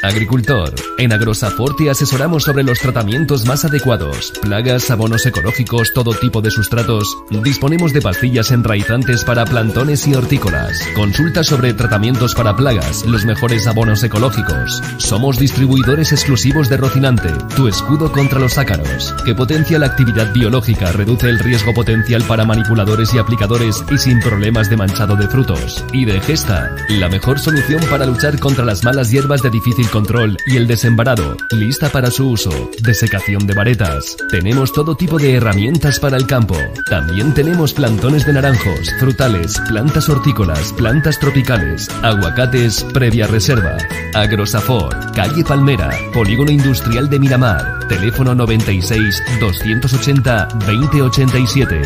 Agricultor, en Agrosafor te asesoramos sobre los tratamientos más adecuados, plagas, abonos ecológicos, todo tipo de sustratos. Disponemos de pastillas enraizantes para plantones y hortícolas. Consulta sobre tratamientos para plagas, los mejores abonos ecológicos. Somos distribuidores exclusivos de Rocinante, tu escudo contra los ácaros, que potencia la actividad biológica, reduce el riesgo potencial para manipuladores y aplicadores y sin problemas de manchado de frutos. Y de Gesta, la mejor solución para luchar contra las malas hierbas de difícil control y el desembarado, lista para su uso. Desecación de varetas. Tenemos todo tipo de herramientas para el campo. También tenemos plantones de naranjos, frutales, plantas hortícolas, plantas tropicales, aguacates previa reserva. Agrosafor, calle Palmera, Polígono Industrial de Miramar. Teléfono 96 280 2087.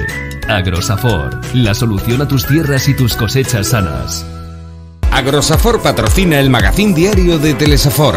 Agrosafor, la solución a tus tierras y tus cosechas sanas. Agrosafor patrocina el magazín diario de Telesafor.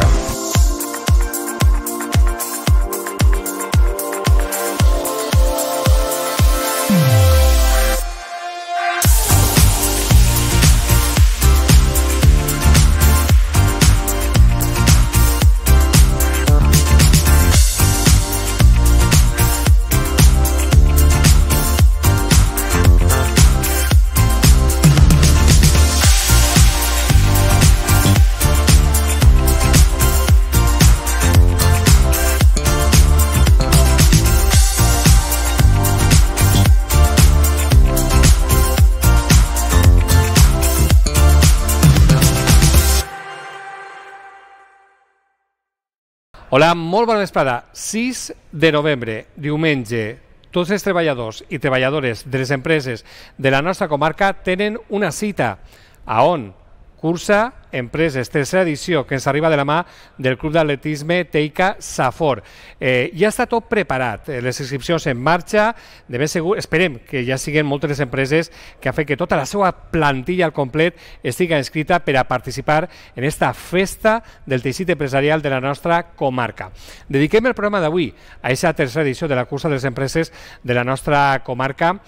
Hola, molt bona vesprada. 6 de novembre, diumenge. Tots els treballadors i treballadores de les empreses de la nostra comarca tenen una cita. A on? Cursa Empreses, tercera edició, que ens arriba de la mà del Club d'Atletisme Teica Safor. Ja està tot preparat, les inscripcions en marxa, de ben segur, esperem que ja siguin moltes les empreses que han fet que tota la seva plantilla al complet estigui inscrita per a participar en esta festa del teixit empresarial de la nostra comarca. Dediquem el programa d'avui a aquesta tercera edició de la cursa de les empreses de la nostra comarca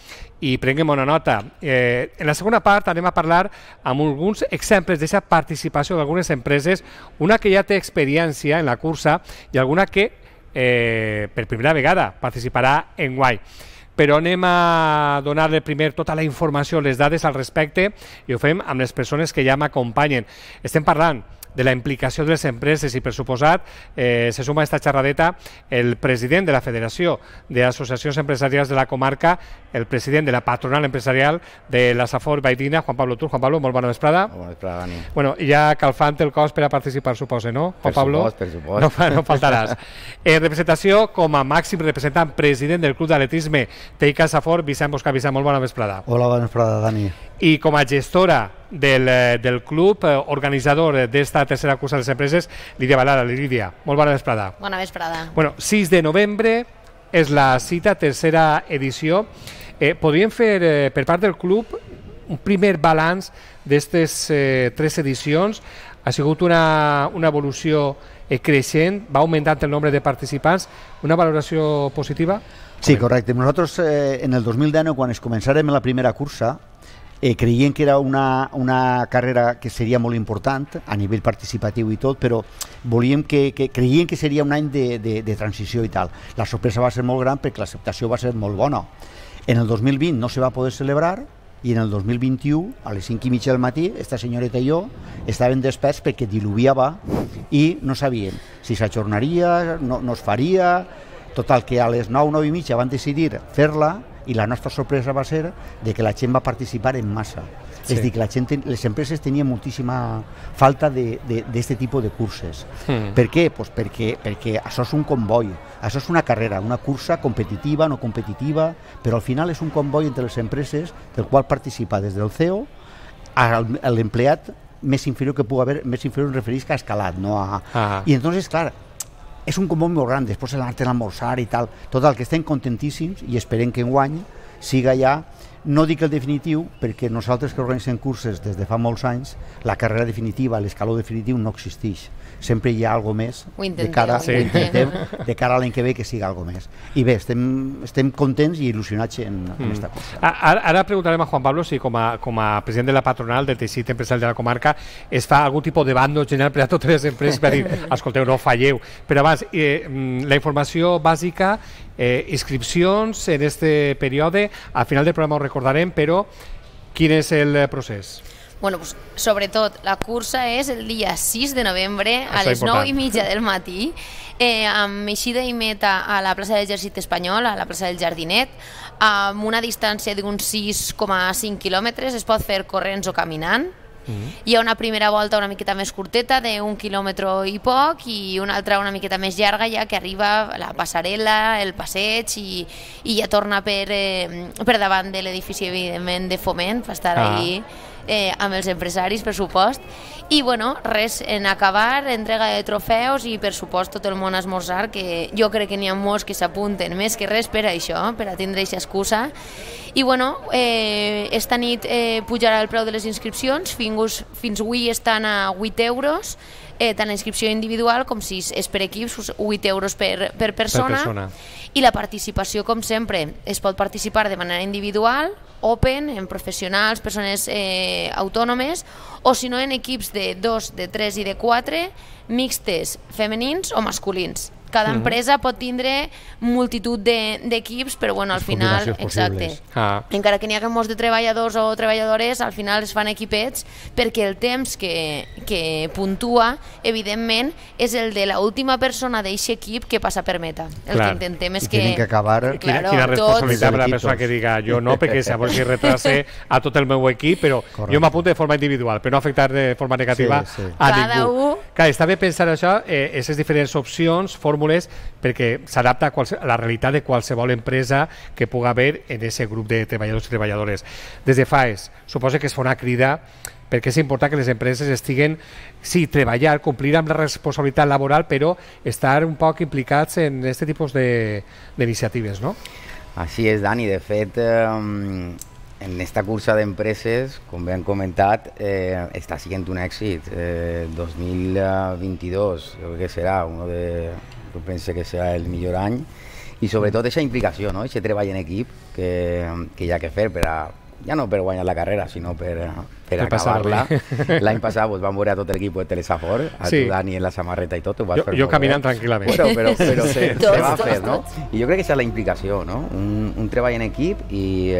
i prenguem una nota. En la segona part anem a parlar amb alguns exemples d'aquesta participació d'algunes empreses, una que ja té experiència en la cursa i alguna que per primera vegada participarà enguany. Però anem a donar-li primer tota la informació, les dades al respecte, i ho fem amb les persones que ja m'acompanyen. Estem parlant de la implicació de les empreses i, per suposat, se suma a esta xerradeta el president de la Federació d'Associacions Empresarials de la comarca, el president de la patronal empresarial de la Safor Baidina, Juan Pablo Tur. Juan Pablo, molt bona vesprada. Bona vesprada, Dani. Bueno, ja calfant el cos per a participar, suposo, no, Juan Pablo? Per supost. No faltaràs. En representació, com a màxim representant president del Club d'Atletisme Teica Safor, Vicent Bosca. Vicent, molt bona vesprada. Hola, bona vesprada, Dani. I com a gestora del club organitzador d'esta tercera cursa de les empreses, Lídia Balada. Lídia, molt bona vesprada. Bona vesprada. Bueno, 6 de novembre és la cita, tercera edició. Podríem fer, per part del club, un primer balanç d'aquestes 3 edicions. Ha sigut una evolució creixent, va augmentant el nombre de participants. Una valoració positiva? Sí, correcte. Nosaltres, en el 2019, quan es començàrem la primera cursa, creiem que era una carrera que seria molt important a nivell participatiu i tot, però creiem que seria un any de transició i tal. La sorpresa va ser molt gran perquè l'acceptació va ser molt bona. En el 2020 no se va poder celebrar i en el 2021, a les 5:30 del matí, esta senyoreta i jo estàvem desperts perquè diluviava i no sabíem si s'ajornaria, no es faria. Total, que a les 9:30 van decidir fer-la i la nostra sorpresa va ser de que la gent va participar en massa. Sí. És a dir, que les empreses tenien moltíssima falta d'aquest tipus de curses. Per què? Pues perquè això és un comboi, això és una carrera, una cursa competitiva, no competitiva, però al final és un comboi entre les empreses del qual participa des del CEO a l'empleat més inferior que pugui haver, més inferior em referís que a escalat, no a... I entonces, clar, és un comboi molt gran, després l'anar-te'n a almorzar i tal. Total, que estem contentíssims i esperem que enguany siga ja No dic el definitiu, perquè nosaltres que organitzem curses des de fa molts anys, la carrera definitiva, l'escaló definitiu no existeix. Sempre hi ha alguna més de cara a l'any que ve que siga alguna més. I bé, estem contents i il·lusionats en aquesta cursa. Ara preguntarem a Juan Pablo si com a president de la patronal del teixit empresarial de la comarca es fa algun tipus de bando general per a totes les empreses per dir, escolteu, no falleu. Però abans, la informació bàsica, inscripcions en este període, al final del programa ho recordarem, però quin és el procés? Bueno, pues, sobretot, la cursa és el dia 6 de novembre a les 9:30 del matí, amb eixida i meta a la plaça de l'Exèrcit Espanyol, a la plaça del Jardinet, amb una distància d'uns 6,5 quilòmetres, es pot fer corrents o caminant. Hi ha una primera volta una miqueta més curteta d'1 quilòmetre i poc i una altra una miqueta més llarga ja que arriba la passarel·la, el passeig i ja torna per davant de l'edifici evidentment de Foment, per estar ahí amb els empresaris, per supost. I bueno, res, en acabar, entrega de trofeus i per supost tot el món a esmorzar, que jo crec que n'hi ha molts que s'apunten més que res per això, per a tindre aquesta excusa. I bueno, esta nit pujarà el preu de les inscripcions, fins avui estan a 8 euros, tant la inscripció individual com si és per equips, 8 euros per persona. I la participació, com sempre, es pot participar de manera individual, open, en professionals, persones autònomes, o si no en equips de 2, de 3 i de 4, mixtes, femenins o masculins. Cada empresa pot tindre multitud d'equips, però bueno, al final, exacte, encara que n'hi hagi molts de treballadors o treballadores, al final es fan equipets perquè el temps que puntua, evidentment, és el de l'última persona d'aquest equip que passa per meta. El que intentem és que... Tenen que acabar... Quina responsabilitat per la persona que diga jo no, perquè llavors que retrase a tot el meu equip, però jo m'apunto de forma individual, per no afectar de forma negativa a ningú. Clar, està bé pensar això, aquestes diferents opcions, fórmules, perquè s'adapta a la realitat de qualsevol empresa que pugui haver en aquest grup de treballadors i treballadores. Des de FAES, suposo que es fa una crida perquè és important que les empreses estiguen, sí, treballar, complir amb la responsabilitat laboral, però estar un poc implicats en aquest tipus d'iniciatives, ¿no? Així és, Dani. De fet, en esta cursa d'empreses, com bé han comentat, està sent un èxit. 2022, crec que serà jo penso que serà el millor any, i sobretot aquesta implicació, no? Aquest treball en equip que hi ha que fer ja no per guanyar la carrera, sinó per acabar-la. L'any passat vam veure a tot l'equip de Telesafor, a tu, Dani, en la samarreta i tot. Jo caminant tranquil·lament. Però se va fer, no? I jo crec que és la implicació, no? Un treball en equip i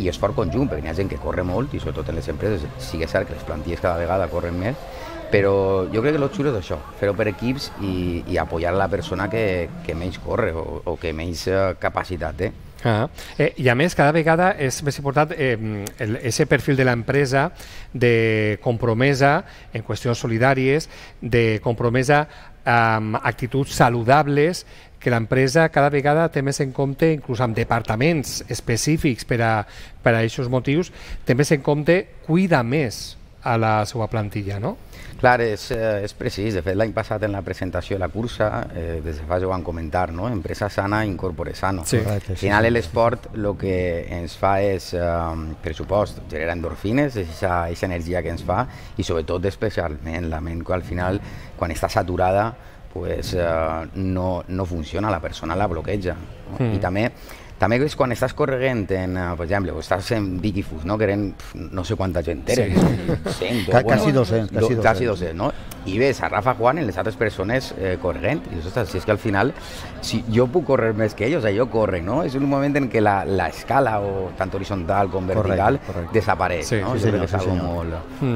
esforç conjunt, perquè hi ha gent que corre molt, i sobretot en les empreses sí que és cert que les plantilles cada vegada corren més, però jo crec que el xulo és això, fer-ho per equips i apoyar la persona que menys corre o que menys capacitat té. I a més, cada vegada és més important aquest perfil de l'empresa de compromesa en qüestions solidàries, de compromesa amb actituds saludables, que l'empresa cada vegada té més en compte, inclús amb departaments específics per a aquests motius, té més en compte cuida més a la seva plantilla, no? Clar, és precís. De fet, l'any passat en la presentació de la cursa, des de fa ja ho van comentar, no? Empresa sana, incorpore sano. Al final l'esport el que ens fa és, per supost, generar endorfines, aquesta energia que ens fa, i sobretot especialment la ment, que al final, quan està saturada, no funciona, la persona la bloqueja. I també és quan estàs corregent per exemple, estàs en Vicky Fus, no? Que eren no sé quanta gent eren, 100, quasi 200, no? I ves a Rafa Juan en les altres persones corregent, i si és que al final si jo puc córrer més que ells, jo corre, no? És un moment en què l'escala, o tant horitzontal com vertical, desapareix, no? Jo crec que és algo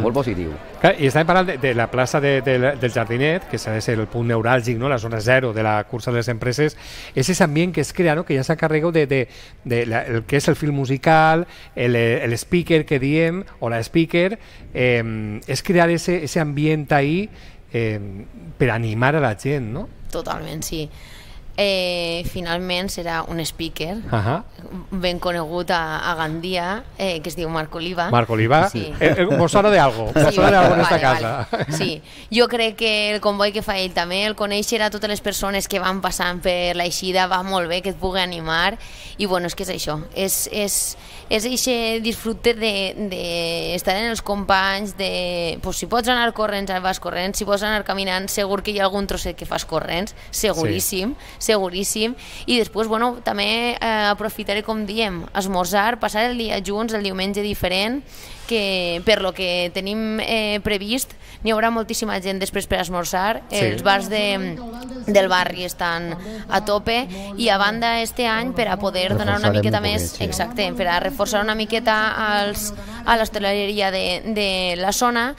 molt positiu. I estàvem parlant de la plaça del Jardinet, que s'ha de ser el punt neuràlgic, la zona zero de la cursa de les empreses, és aquest ambient que es crea, que ja s'encarrega de el que és el fil musical, el speaker que diem, o la speaker, és crear ese ambient ahí per animar a la gent, no? Totalment, sí. finalment serà un speaker ben conegut a Gandia, que es diu Marc Oliva. Marc Oliva, mos sona d'algo, mos sona d'algo en esta casa. Sí, jo crec que el comboi que fa ell també, el conèixer a totes les persones que van passant per l'eixida va molt bé, que et pugui animar, i bueno, és que és això, és aquest disfrute d'estar en els companys, si pots anar corrents, vas corrents, si pots anar caminant, segur que hi ha algun trosset que fas corrents, seguríssim, seguríssim, i després, bueno, també aprofitaré, com diem, esmorzar, passar el dia junts, el diumenge diferent, que per lo que tenim previst n'hi haurà moltíssima gent després per esmorzar, els bars del barri estan a tope, i a banda este any per a poder donar una miqueta més, exacte, per a reforçar una miqueta a l'hostaleria de la zona,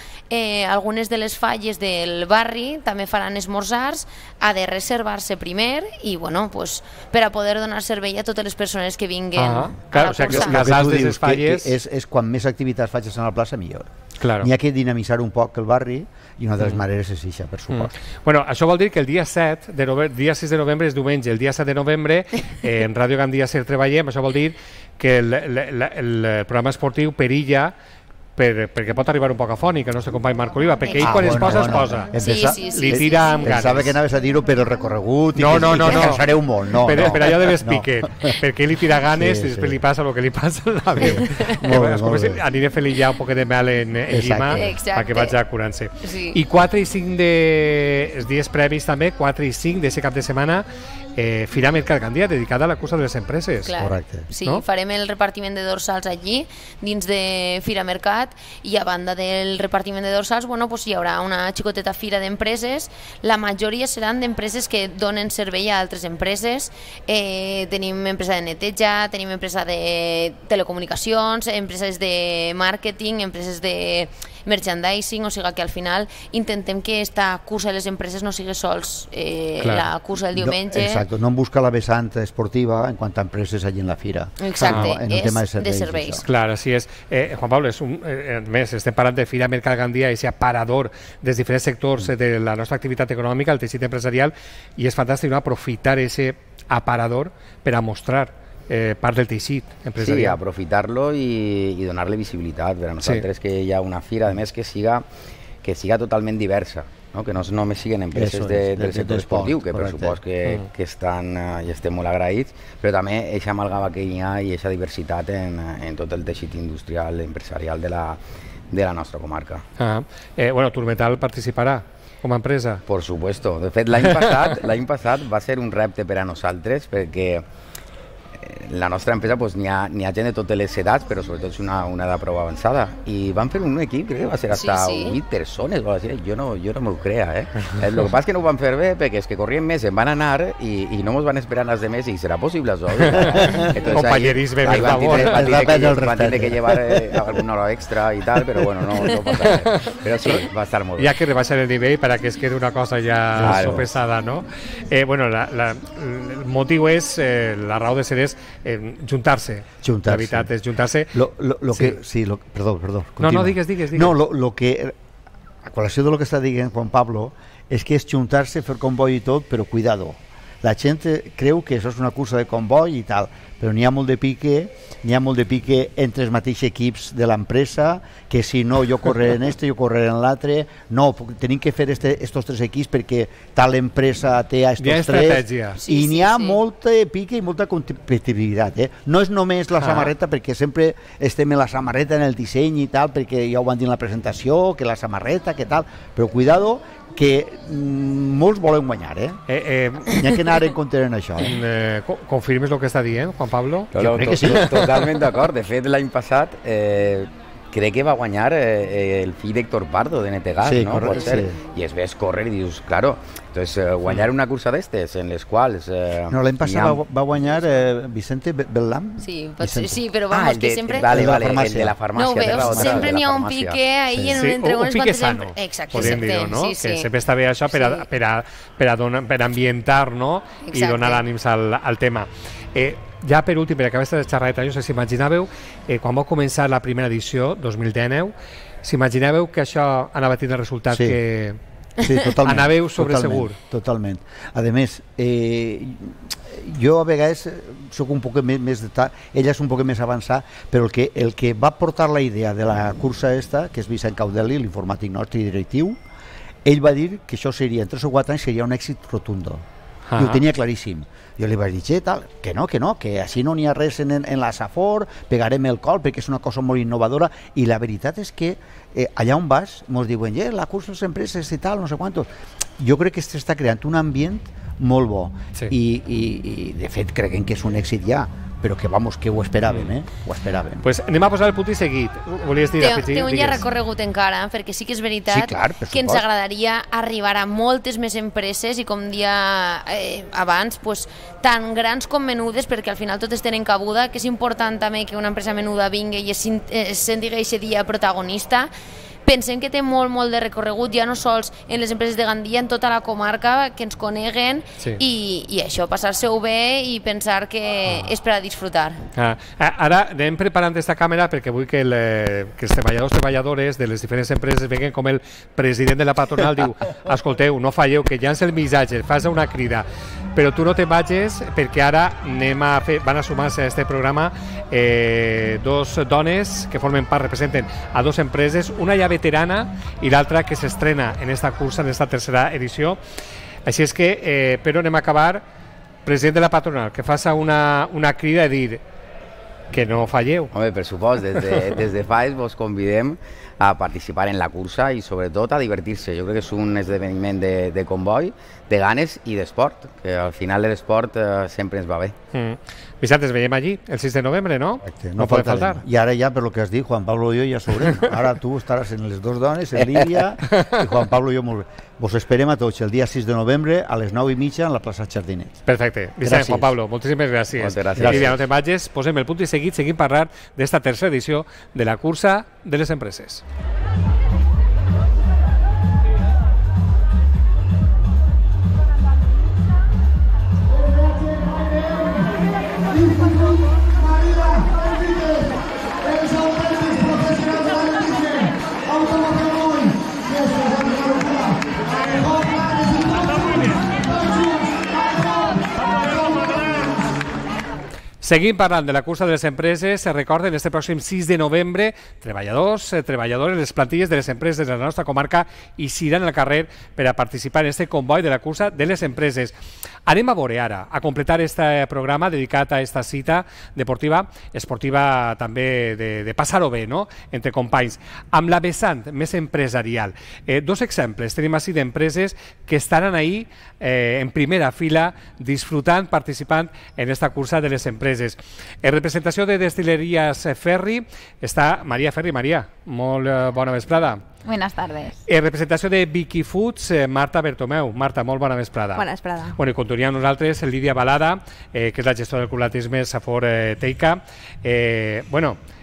algunes de les falles del barri també faran esmorzars, ha de reservar-se primer i bueno, pues, per a poder donar servei a totes les persones que vinguen a la cursa. És quan més activitats facis a la plaça, millor. N'hi ha que dinamitzar un poc el barri, i una de les maneres és això, per supost. Bueno, això vol dir que el dia 6 de novembre és diumenge, el dia 7 de novembre en Ràdio Gandia Ser treballem, això vol dir que el programa esportiu perilla perquè pot arribar un poc afònic el nostre company Marc Oliva, perquè ell quan es posa li tira amb ganes. Pensava que anaves a dir-ho per el recorregut i que cansareu molt. Per allò de Vespique, perquè ell li tira ganes i després li passa el que li passa a la veu. Aniré fent-li ja un poc de mel en llima perquè vaig curant-se. I 4 i 5 dels dies previs també, 4 i 5 d'aquest cap de setmana, Fira Mercat Gandia, dedicada a la cursa de les empreses. Correcte. Sí, farem el repartiment de dorsals allí, dins de Fira Mercat, i a banda del repartiment de dorsals, bueno, pues hi haurà una xicoteta fira d'empreses. La majoria seran d'empreses que donen servei a altres empreses. Tenim empresa de neteja, tenim empresa de telecomunicacions, empreses de màrqueting, empreses de merchandising, o sigui que al final intentem que esta cursa de les empreses no sigui sols la cursa del diumenge. Exacte, no en busca la vessant esportiva en quant a empreses allí en la fira. Exacte, és de serveis. Clar, així és. Juan Pablo, més, estem parlant de Fira Mercat Gandia, aquest aparador dels diferents sectors de la nostra activitat econòmica, el teixit empresarial, i és fantàstic aprofitar aquest aparador per a mostrar part del teixit empresarial. Sí, aprofitar-lo i donar-li visibilitat. Per a nosaltres que hi ha una fira, a més, que siga totalment diversa, no? Que no només siguin empreses del sector esportiu, que per supost que estan i estem molt agraïts, però també aquesta amalgama que hi ha i aquesta diversitat en tot el teixit industrial empresarial de la nostra comarca. Bueno, Turmetal participarà com a empresa? Por supuesto. De fet, l'any passat va ser un repte per a nosaltres, perquè la nostra empresa n'hi ha gent de totes les edats, però sobretot és una edat prou avançada, i van fer un equip, crec que va ser hasta 8 persones, jo no m'ho crea, el que passa és que no ho van fer bé, perquè és que corrien més, en van anar i no ens van esperar els demés, i serà possible això? Companyerisme, per favor. Van tindre que llevar alguna hora extra i tal, però bueno, no passa res. Però sí, va estar molt bé. Hi ha que rebaixar el nivell per a que es quedi una cosa ja sopesada, no? Bueno, el motiu és, la raó de ser és juntar-se. La veritat és juntar-se. Perdó. No, digues. No, lo que, a col·lació de lo que està dient Juan Pablo, és que és juntar-se, fer comboi i tot, però cuidado. La gent creu que això és una cursa de comboi i tal, però n'hi ha molt de pique entre els mateixos equips de l'empresa, que si no jo correré en jo correré en l'altre, no, tenim que fer estos tres equips perquè tal empresa té a estos tres, i n'hi ha molta pique i molta competitivitat, no és només la samarreta, perquè sempre estem en la samarreta, en el disseny i tal, perquè ja ho van dir en la presentació, que la samarreta, que tal, però cuidado, que molts volen guanyar, n'hi ha que anar en compte en això. Confirmes el que està dient, Juan Pablo? Jo crec que sí. Totalment d'acord. De fet, l'any passat crec que va guanyar el fill d'Héctor Pardo, de Netegas, sí, no? Pot ser. I es ves córrer i dius, claro, entonces guanyar una cursa d'estes en les quals... No, l'any passat va guanyar Vicente Bellam? Sí, però vamos, que sempre... Vale, el de la farmàcia. No ho veus, sempre n'hi ha un pique ahí entre unes pique sano, podríem dir-ho, no? Que sempre està bé això per ambientar, no? I donar ànims al tema. Ja per últim, per acabar aquesta xerradeta, no sé si imaginàveu, quan va començar la primera edició, 2019, s'imaginàveu que això anava a tenir el resultat Sí, totalment. Anàveu sobre segur. Totalment. A més, jo a vegades soc un poc més ella és un poc més avançat, però el que va portar la idea de la cursa esta, que és Vicent Caudeli, l'informàtic nostre i directiu, ell va dir que això seria, en 3 o 4 anys seria un èxit rotundo. I ho tenia claríssim. Jo li vaig dir, tal, que no, que així no n'hi ha res en la Safor, pegarem el col perquè és una cosa molt innovadora, i la veritat és que allà on vas ens diuen, la cursa de les empreses i tal, no sé quantos. Jo crec que s'està creant un ambient molt bo, i de fet creguem que és un èxit ja, però que vamos, que ho esperàvem, ho esperàvem. Pues anem a posar el punt i seguit. Volies dir, té un ja recorregut encara, perquè sí que és veritat que ens agradaria arribar a moltes més empreses i, com dia abans, pues, tan grans com menudes, perquè al final totes tenen cabuda, que és important també que una empresa menuda vingui i es senti aquest dia protagonista. Pensem que té molt de recorregut, ja no sols en les empreses de Gandia, en tota la comarca, que ens coneguen, i això, passar-se-ho bé i pensar que és per a disfrutar. Ara anem preparant aquesta càmera perquè vull que els treballadors de les diferents empreses veguen com el president de la patronal diu, escolteu, no falleu, que llança el missatge, fas una crida, però tu no te'n vagis perquè ara van a sumar-se a aquest programa dos dones que formen part, representen a dos empreses, una ja veterana i l'altra que s'estrena en esta cursa, en esta tercera edició. Així és que, però anem a acabar, president de la patronal, que faça una crida i dir que no falleu. Home, per supost, des de FAES vos convidem a participar en la cursa i sobretot a divertir-se. Jo crec que és un esdeveniment de comboi, de ganes i d'esport, que al final l'esport sempre ens va bé. Vicent, ens veiem allí el 6 de novembre, no? No pot faltar. I ara ja, per lo que has dit, Juan Pablo i jo ja sobrem. Ara tu estaràs en les dos dones, en Lídia, i Juan Pablo i jo molt bé. Vos esperem a tots el dia 6 de novembre a les 9:30 en la plaça Jardinet. Perfecte. Vicent, Juan Pablo, moltíssimes gràcies. Moltes gràcies. Lídia, no te'n vagis, posem el punt i seguim parlant d'esta tercera edició de la cursa de les empreses. Seguim parlant de la cursa de les empreses. Recorden, este pròxim 6 de novembre, treballadores, les plantilles de les empreses de la nostra comarca hi seran al carrer per a participar en este comboi de la cursa de les empreses. Anem a veure ara, a completar este programa dedicat a esta cita deportiva, esportiva també de passar-ho bé, no?, entre companys, amb la vessant més empresarial. Dos exemples tenim així d'empreses que estaran ahí en primera fila disfrutant, participant en esta cursa de les empreses. En representació de Destilerías Ferri està Maria Ferri. Maria, molt bona vesprada. Buenas tardes. En representació de Vicky Foods, Marta Bertomeu. Marta, molt bona vesprada. Bona vesprada. Bueno, i continuem amb nosaltres Lídia Balada, que és la gestora del Club d'Atletisme Safor Teica.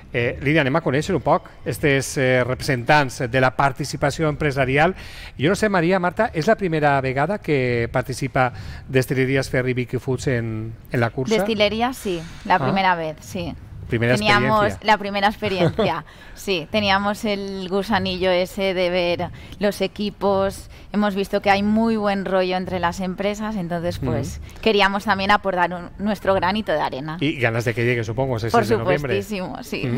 Lídia, anem a conèixer un poc aquests representants de la participació empresarial. Jo no sé, Maria, Marta, és la primera vegada que participa Destilerías Ferri Vicky Foods en la cursa? Destilerías, sí, la primera vez, sí. Teníamos la primera experiencia, sí, teníamos el gusanillo ese de ver los equipos, hemos visto que hay muy buen rollo entre las empresas, entonces pues queríamos también aportar nuestro granito de arena. Y ganas de que llegue, supongo, ese 6 de noviembre. Por supuestísimo, sí.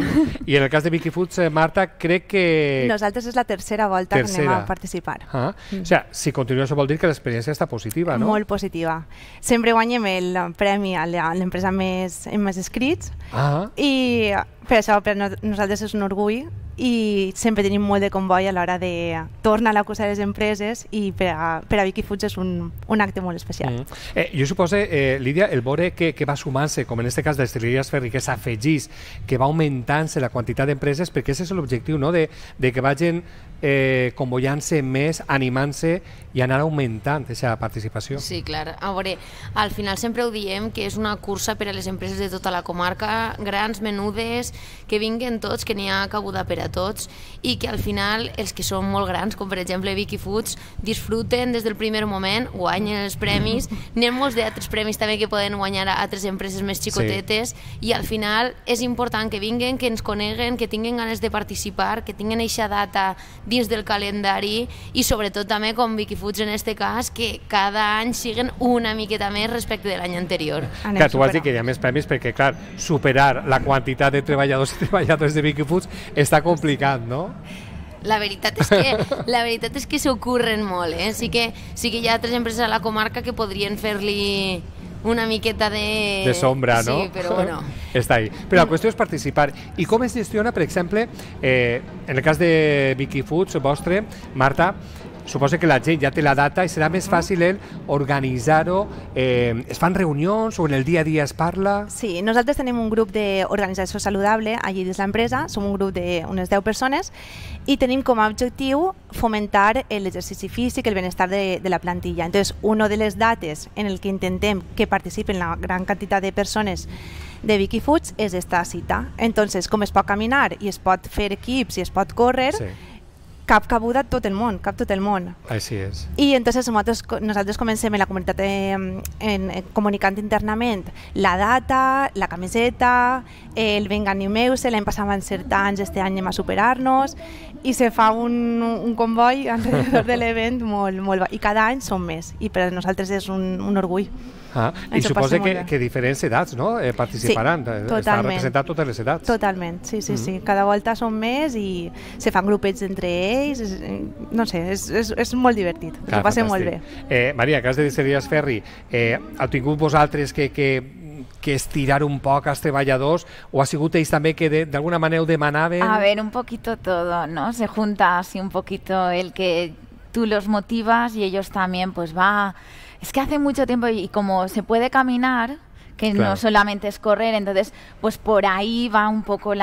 Y en el cas de Vicky Foods, Marta, crec que... Nosaltres és la tercera volta que anem a participar. O sigui, si continua això vol dir que l'experiència està positiva, no? Molt positiva. Sempre guanyem el premi a l'empresa amb més escrits i per això per nosaltres és un orgull i sempre tenim molt de comboi a l'hora de tornar a la cursa de les empreses i per a Vicky Foods és un acte molt especial. Jo suposo, Lídia, el veure que va sumant-se, com en aquest cas de Destilerías Ferri, que s'afegís, que va augmentant-se la quantitat d'empreses, perquè aquest és l'objectiu, no?, de que vagin convoiant-se més, animant-se i anar augmentant aquesta participació. Sí, clar. A veure, al final sempre ho diem que és una cursa per a les empreses de tota la comarca, grans, menudes, que vinguen tots, que n'hi ha cabuda per a tots i que al final els que són molt grans, com per exemple Vicky Foods, disfruten des del primer moment, guanyen els premis, n'hi ha molts d'altres premis també que poden guanyar a altres empreses més xicotetes i al final és important que vinguen, que ens coneguen, que tinguin ganes de participar, que tinguin eixa data dins del calendari i sobretot també com Vicky Foods en este cas, que cada any siguen una miqueta més respecte de l'any anterior. Clar, tu has dit que hi ha més premis perquè, clar, superar la quantitat de treballadors i treballadores de Vicky Foods està complicat, no? La veritat és que s'ho curren molt, sí que hi ha altres empreses a la comarca que podrien fer-li una miqueta de sombra, no? Sí, però bueno. Està ahí. Però la qüestió és participar. I com es gestiona, per exemple, en el cas de Vicky Foods, vostre, Marta, suposo que la gent ja té la data i serà més fàcil organitzar-ho. Es fan reunions o en el dia a dia es parla? Sí, nosaltres tenim un grup d'organització saludable allí dins l'empresa, som un grup d'unes 10 persones i tenim com a objectiu fomentar l'exercici físic, el benestar de la plantilla. Entonces, una de les dates en el que intentem que participen la gran quantitat de persones de Vicky Foods és esta cita. Entonces, com es pot caminar i es pot fer equips i es pot córrer, cap cabuda tot el món, cap tot el món. Així és. I entonces nosaltres comencem en la comunitat comunicant internament la data, la camiseta, el venga animeu-se, l'any passat van ser tants, este any anem a superar-nos i se fa un comboi alrededor de l'event molt i cada any són més i per a nosaltres és un orgull. I suposa que diferents edats participaran, està representat totes les edats. Totalment, sí. Cada volta són més i se fan grupets entre ells, no sé, és molt divertit, ho passem molt bé. Maria, cas de Distilleries Ferri, heu tingut vosaltres que estirar un poc als treballadors o ha sigut ells també que d'alguna manera ho demanaven? A ver, un poquito todo, ¿no? Se junta así un poquito el que tú los motivas y ellos también pues va... Es que hace mucho tiempo y como se puede caminar, que no solamente es correr, entonces pues por ahí va un poco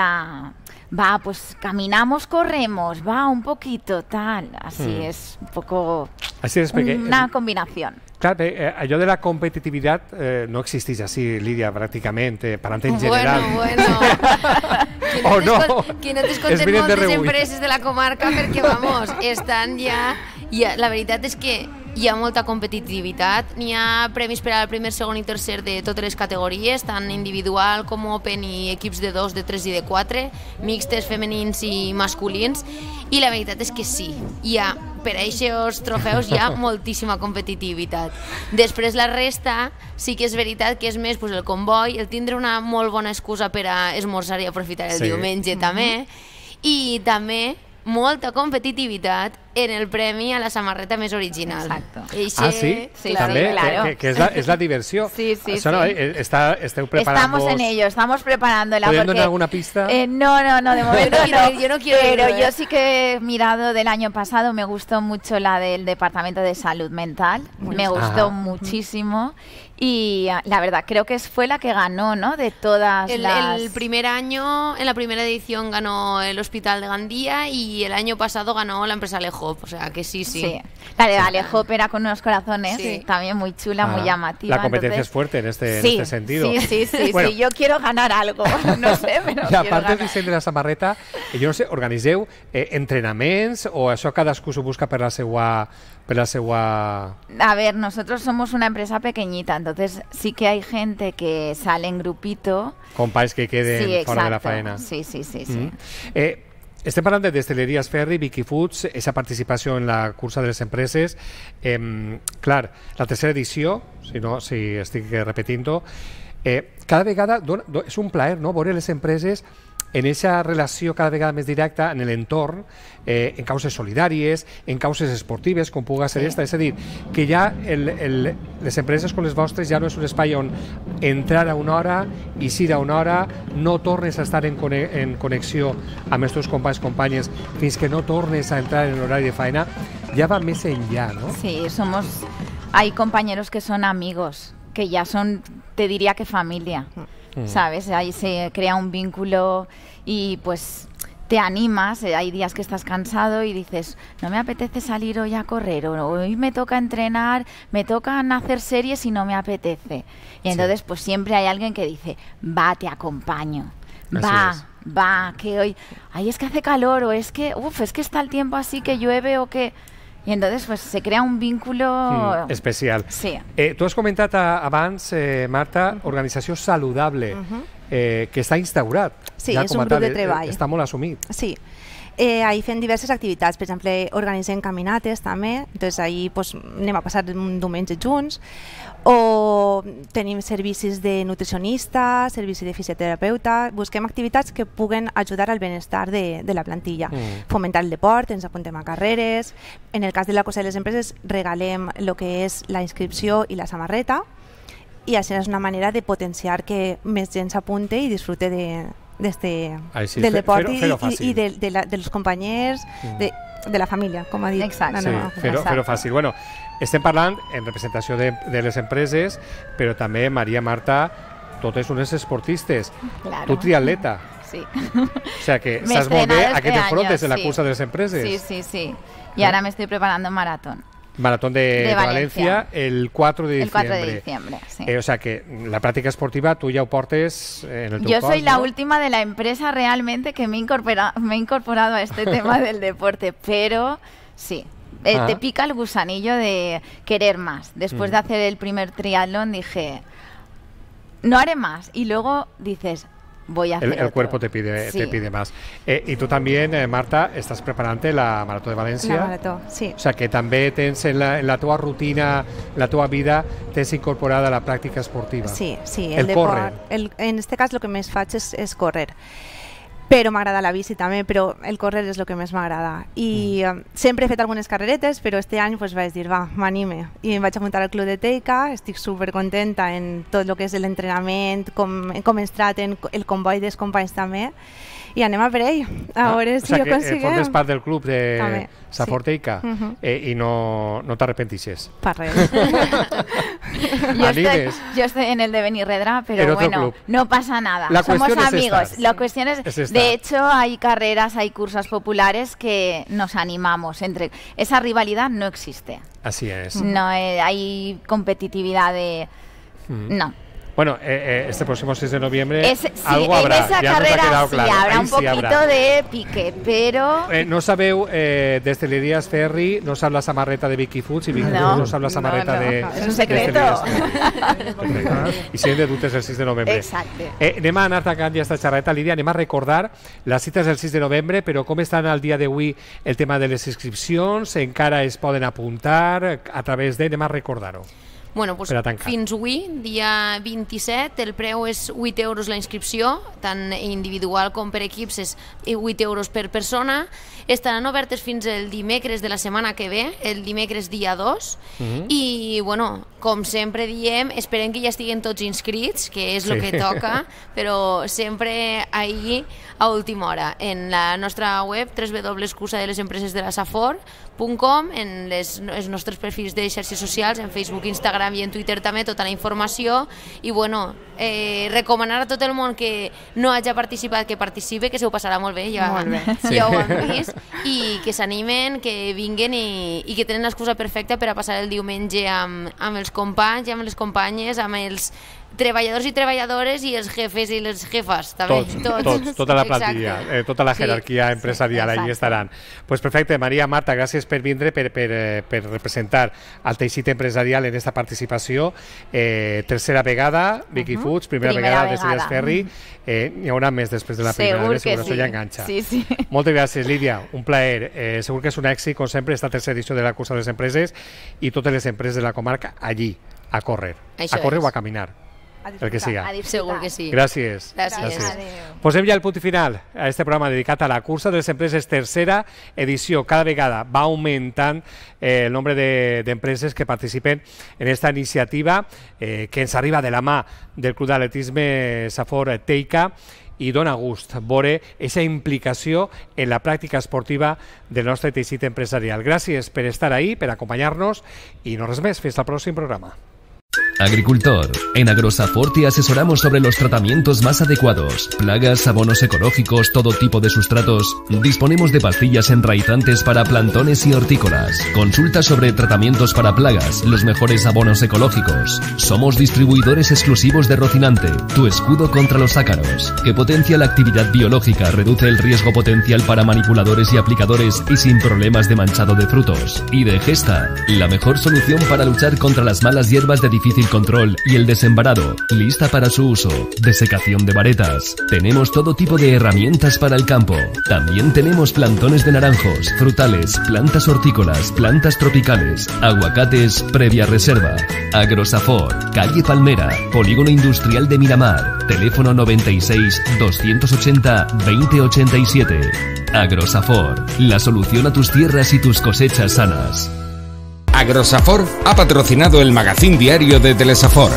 pues caminamos, corremos, va un poquito tal, así es un poco una combinación. Clar, allò de la competitivitat no existeix així, Lídia, pràcticament, parlant en general. Bueno. Que no t'escolten moltes empreses de la comarca perquè, vamos, estan ja... La veritat és que hi ha molta competitivitat, n'hi ha premis per al primer, segon i tercer de totes les categories, tant individual com open i equips de 2, de 3 i de 4, mixtes, femenins i masculins, i la veritat és que sí, per a aquests trofeus hi ha moltíssima competitivitat. Després la resta sí que és veritat que és més el comboi, el tindre una molt bona excusa per a esmorzar i aprofitar el diumenge també, i també molta competitivitat en el premi a la samarreta més original. Exacto. Sí, també, claro. Que és la diversió. Sí. No, esteu preparando. Estamos en ello, estamos preparándola. ¿Pueden dar alguna pista? No, de momento yo no quiero pero yo sí que he mirado del año pasado, me gustó mucho la del Departamento de Salud Mental, me gustó muchísimo. Y la verdad, creo que fue la que ganó, ¿no? De todas las... El primer año, en la primera edición ganó el Hospital de Gandía y el año pasado ganó la empresa Alejop, o sea que sí. La de Alejop era con unos corazones, también muy chula, muy llamativa. La competencia es fuerte en este sentido. Sí, bueno, yo quiero ganar algo, no sé, pero I a part del disseny de la samarreta, jo no sé, organitzeu entrenaments o això cadascú s'ho busca per la seua... A ver, nosotros somos una empresa pequeñita, entonces sí que hay gente que sale en grupito. Companys que queden fora de la faena. Sí. Estem parlant de Distilleries Ferri, Vicky Foods, aquesta participació en la cursa de les empreses. Clar, la tercera edició, si estic repetint-ho, cada vegada és un plaer, no?, veure les empreses en aquesta relació cada vegada més directa en l'entorn, en causes solidàries, en causes esportives, com pugui ser esta. És a dir, que ja les empreses com les vostres ja no és un espai on entrar a una hora, eixir a una hora, no tornes a estar en connexió amb els teus companys, companyes, fins que no tornes a entrar en l'horari de feina, ja va més enllà, ¿no? Sí, hay compañeros que son amigos, que ya son, te diría que familia. ¿Sabes? Ahí se crea un vínculo y pues te animas, hay días que estás cansado y dices, no me apetece salir hoy a correr, o hoy me toca entrenar, me tocan hacer series y no me apetece. Y entonces pues siempre hay alguien que dice, va, te acompaño. va, que hoy, ay, es que hace calor, o es que está el tiempo así que llueve, o que... Y entonces pues se crea un vínculo especial. Sí. Tu has comentat abans, Marta, organització saludable, que està instaurat. Sí, ja és un grup de treball. Està molt assumit. Sí. Ahí fem diverses activitats, per exemple, organitzem caminates també, doncs ahí pues, anem a passar un diumenge junts, o tenim servicis de nutricionista, servici de fisioterapeuta, busquem activitats que puguen ajudar al benestar de la plantilla. Fomentar el deport, ens apuntem a carreres, en el cas de la Cosa de les Empreses regalem el que és la inscripció i la samarreta, i això és una manera de potenciar que més gent s'apunte i disfrute del deport i dels companys, de la família, com ha dit. Exacte. Sí, fer-ho fàcil. Bueno, estem parlant en representació de les empreses, però també, Maria, Marta, totes unes esportistes. Claro. Tu triatleta. Sí. O sea que saps molt bé a què t'enfrontes en la cursa de les empreses. Sí. Y ahora me estoy preparando un maratón. Maratón de Valencia el 4 de diciembre. El 4 de diciembre, sí. O sea que la práctica esportiva tú ya portes en el teu Yo soy la ¿no? última de la empresa realmente que me he incorporado a este tema del deporte, pero sí. Te pica el gusanillo de querer más. Después de hacer el primer triatlón dije, no haré más. Y luego dices, voy a hacer el cuerpo te pide más. Y tú también, Marta, estás preparante la Marató de València. La Marató, sí. O sea que també tens en la tua rutina, la tua vida, tens incorporada la pràctica esportiva. Sí. El córrer. En este cas el que més faig és córrer. Però m'agrada la bici també, però el córrer és el que més m'agrada. I sempre he fet algunes carreretes, però este any pues, vaig dir, m'anime. I em vaig apuntar al Club de Teica, estic supercontenta en tot el que és l'entrenament, com ens traten, el comboi dels companys també, i anem a per ell, a veure si ho aconseguim. Formes part del club de Safor Teica i no t'arrepentixes. Per res. Yo estoy en el de Benirredra, pero bueno, no pasa nada. Somos amigos. La cuestión es de hecho, hay carreras, hay cursos populares que nos animamos. Esa rivalidad no existe. Así es. No hay competitividad de... No. Bueno, este próximo 6 de noviembre algo habrá. En esa carrera sí habrá un poquito de pique, pero... no sabeu, des de l'Elias Ferri, no sap la samarreta de Vicky Foods i Vicky Foods no sap la samarreta de... És un secreto. I si hem de dubtes el 6 de novembre. Exacte. Anem a anar tancant ja esta xerreta, Lídia, anem a recordar les cites del 6 de novembre, però com estan al dia d'avui el tema de les inscripcions? Encara es poden apuntar a través de... Anem a recordar-ho. Bueno, doncs fins avui, dia 27, el preu és 8 euros la inscripció, tant individual com per equips és 8 euros per persona. Estaran obertes fins el dimecres de la setmana que ve, el dimecres dia 2, i, bueno, com sempre diem, esperem que ja estiguen tots inscrits, que és el que toca, però sempre ahir a última hora. En la nostra web, www.cursadelesempresesdelasafor.com, en els nostres perfils de xarxes socials, en Facebook, Instagram i en Twitter també, tota la informació. I, bueno, recomanar a tot el món que no hagi participat, que participe, que se ho passarà molt bé, ja ho hem vist, i que s'animen, que vinguen i que tenen l'excusa perfecta per a passar el diumenge amb els companys i amb les companyes, amb els treballadors i treballadores i els jefes i les jefes també. Tots, tota la plantilla, tota la jerarquia empresarial, ahí estaran. Pues perfecte, Maria, Marta, gràcies per vindre, per representar el teixit empresarial en esta participació. Tercera vegada, Vicky Foods, primera vegada des de Ferri. N'hi haurà més després de la primera, segur que això ja enganxa. Moltes gràcies, Lídia, un plaer. Segur que és un èxit, com sempre, esta tercera edició de la Cursa de les Empreses i totes les empreses de la comarca allí, a córrer. A córrer o a caminar. El que siga. Segur que sí. Gràcies. Posem ja el punt final a este programa dedicat a la Cursa de les Empreses, tercera edició. Cada vegada va augmentant el nombre d'empreses que participen en esta iniciativa que ens arriba de la mà del Club d'Atletisme Safor Teica i dona gust veure aquesta implicació en la pràctica esportiva del nostre teixit empresarial. Gràcies per estar ahí, per acompanyar-nos i no res més. Fins al pròxim programa. Agricultor, en Agrosafor te asesoramos sobre los tratamientos más adecuados, plagas, abonos ecológicos, todo tipo de sustratos. Disponemos de pastillas enraizantes para plantones y hortícolas. Consulta sobre tratamientos para plagas, los mejores abonos ecológicos. Somos distribuidores exclusivos de Rocinante, tu escudo contra los ácaros, que potencia la actividad biológica, reduce el riesgo potencial para manipuladores y aplicadores y sin problemas de manchado de frutos. Y de Gesta, la mejor solución para luchar contra las malas hierbas de difícil control y el desembarado, lista para su uso. Desecación de varetas. Tenemos todo tipo de herramientas para el campo. También tenemos plantones de naranjos, frutales, plantas hortícolas, plantas tropicales, aguacates previa reserva. Agrosafor, calle Palmera, Polígono Industrial de Miramar, teléfono 96 280 2087. Agrosafor, la solución a tus tierras y tus cosechas sanas. Agrosafor ha patrocinado el magazín diario de Telesafor.